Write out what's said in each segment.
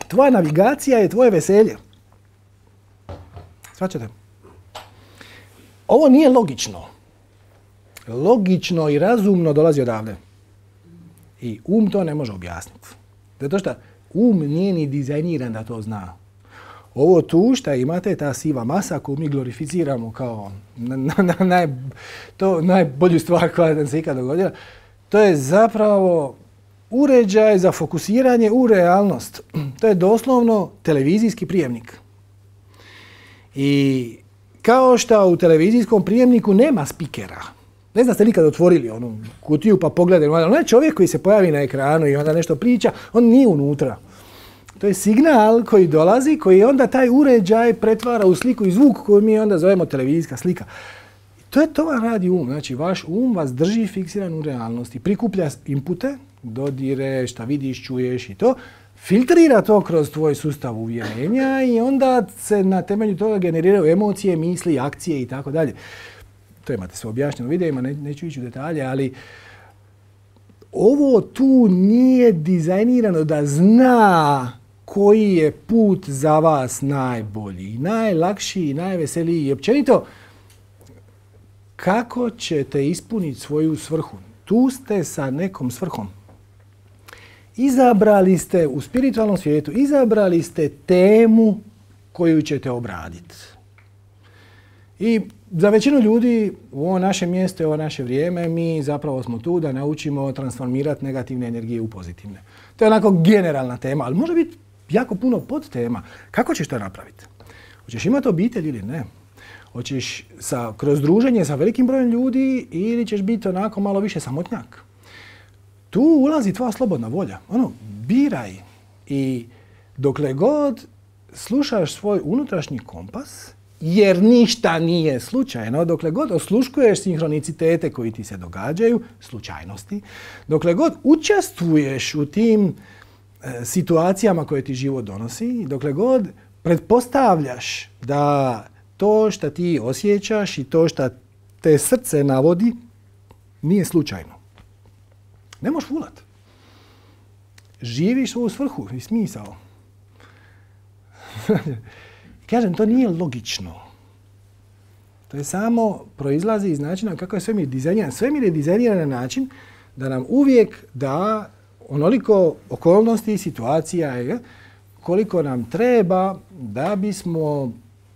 Tvoja navigacija je tvoje veselje. Shvaćate? Ovo nije logično. Logično i razumno dolazi odavde. I to ne može objasniti. Zato što nije ni dizajniran da to zna. Ovo tu što imate, ta siva masa koju mi glorificiramo kao najbolju stvar koja nam se ikad dogodila, to je zapravo uređaj za fokusiranje u realnost. To je doslovno televizijski prijemnik. I kao što u televizijskom prijemniku nema spikera. Ne znam ste nikad otvorili onu kutiju pa pogledali. Onaj čovjek koji se pojavi na ekranu i onda nešto priča, on nije unutra. To je signal koji dolazi, koji onda taj uređaj pretvara u sliku i zvuk koju mi onda zovemo televizijska slika. To vam radi Znači, vaš vas drži fiksiran u realnosti. Prikuplja inpute, dodire, šta vidiš, čuješ i to. Filtrira to kroz tvoj sustav uvjerenja i onda se na temelju toga generiraju emocije, misli, akcije i tako dalje. To imate sve objašnjeno u videima, neću ići u detalje, ali ovo tu nije dizajnirano da zna koji je put za vas najbolji, najlakši, najveseliji i općenito kako ćete ispuniti svoju svrhu. Tu ste sa nekom svrhom. Izabrali ste u spiritualnom svijetu, izabrali ste temu koju ćete obraditi. I za većinu ljudi u ovo naše mjesto i ovo naše vrijeme mi zapravo smo tu da naučimo transformirati negativne energije u pozitivne. To je onako generalna tema, ali može biti jako puno podtema. Kako ćeš to napraviti? Hoćeš imati obitelj ili ne? Hoćeš kroz druženje sa velikim brojem ljudi ili ćeš biti onako malo više samotnjak? Tu ulazi tvoja slobodna volja. Biraj. I dokle god slušaš svoj unutrašnji kompas, jer ništa nije slučajno, dokle god osluškuješ sinhronicitete koji ti se događaju, slučajnosti, dokle god učestvuješ u tim situacijama koje ti život donosi, dokle god pretpostavljaš da to što ti osjećaš i to što te srce navodi nije slučajno. Ne možeš fulat. Živiš svoju svrhu i smisao. Kažem, to nije logično. To je samo proizlazi iz načina kako je svemir dizajniran. Svemir je dizajniran na način da nam uvijek da onoliko okolnosti i situacija koliko nam treba da bismo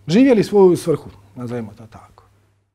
živjeli svoju svrhu, nazovimo to tako.